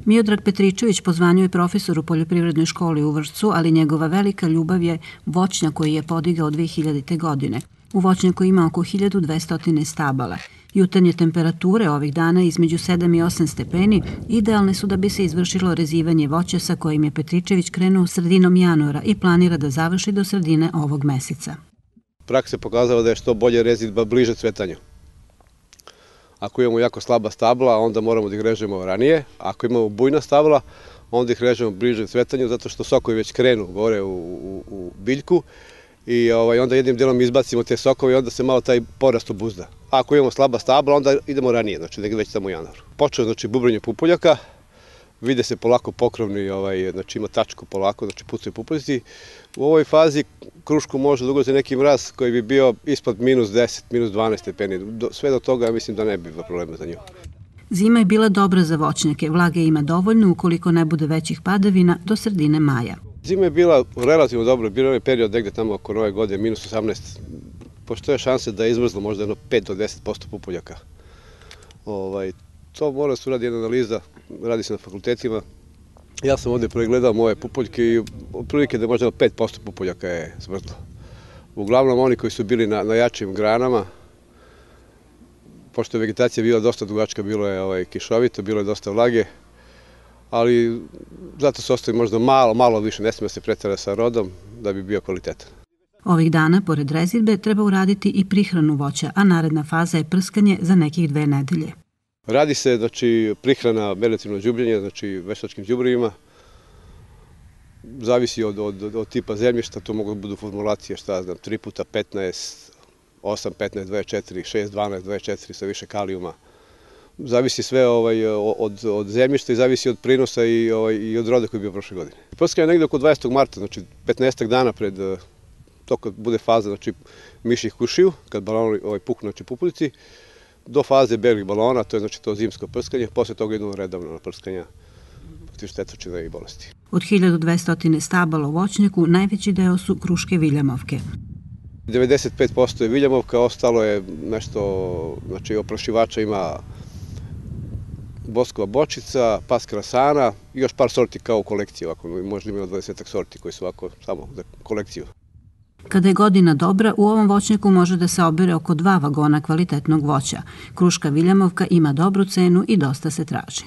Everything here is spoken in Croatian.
Miodrag Petričević po zvanju je profesor u poljoprivrednoj školi u Vršcu, ali njegova velika ljubav je voćnjak koji je podigao 2000. godine. U voćnjaku ima oko 1200 stabala. Jutarnje temperature ovih dana između 7 i 8 stepeni idealne su da bi se izvršilo rezivanje voća sa kojim je Petričević krenuo sredinom januara i planira da završi do sredine ovog meseca. Praksa je pokazala da je što bolje rezidba bliže cvetanju. Ako imamo jako slaba stabla, onda moramo da ih režemo ranije. Ako imamo bujna stabla, onda ih režemo bliže cvetanju, zato što sokovi već krenu gore u biljku i onda jednim delom izbacimo te sokove i onda se malo taj porast obuzda. Ako imamo slaba stabla, onda idemo ranije, znači negdje već tamo u januaru. Počeo znači bubrenje pupoljaka, vide se polako pokrovni, znači ima tačku polako, znači pucaju pupoljci. U ovoj fazi krušku može da ugrozi neki mraz koji bi bio ispod -10, -12 stepeni. Sve do toga mislim da ne bi bilo problema za nju. Zima je bila dobra za voćnjake, vlage ima dovoljno ukoliko ne bude većih padavina do sredine maja. Zima je bila relativno dobro, bio je period negde tamo oko nove godine, -18. Postoje šanse da je izmrzlo možda 5 do 10% pupoljaka. To mora da se uradi jedna analiza, radi se na fakultetima. Ja sam ovde pregledao moje pupoljke i otprilike da možda 5% pupoljaka je smrzlo. Uglavnom oni koji su bili na jačim granama, pošto je vegetacija bila dosta dugačka, bilo je kišovito, bilo je dosta vlage, ali zato se ostavi možda malo više, ne smije se pretera sa rodom da bi bio kvalitetan. Ovih dana, pored rezidbe, treba uraditi i prihranu voća, a naredna faza je prskanje za nekih 2 nedelje. Radi se, znači, prihrana meliorativnog đubriva, znači veštačkim đubrivima. Zavisi od tipa zemljišta, to mogu da budu formulacije, 3 puta 15, 8, 15, 24, 6, 12, 24 sa više kalijuma. Zavisi sve od zemljišta i zavisi od prinosa i od roda koji je bio prošle godine. Prskanje je negde oko 20. marta, znači 15 dana pred to kad bude faza, znači miših kušiju, kad baloni puknu, znači pupoljci, do faze belih balona, to je znači to zimsko prskanje, posle toga idemo redovno na prskanja protiv štetočina i bolesti. Od 1200 stabala u voćnjaku najveći deo su kruške viljamovke. 95% je viljamovka, ostalo je nešto, znači oprašivača ima boskova bočica, pas krasana i još par sorti kao u kolekciji, možda ima 20 sorti koji su ovako samo za kolekciju. Kada je godina dobra, u ovom voćnjaku može da se obere oko 2 vagona kvalitetnog voća. Kruška viljamovka ima dobru cenu i dosta se traži.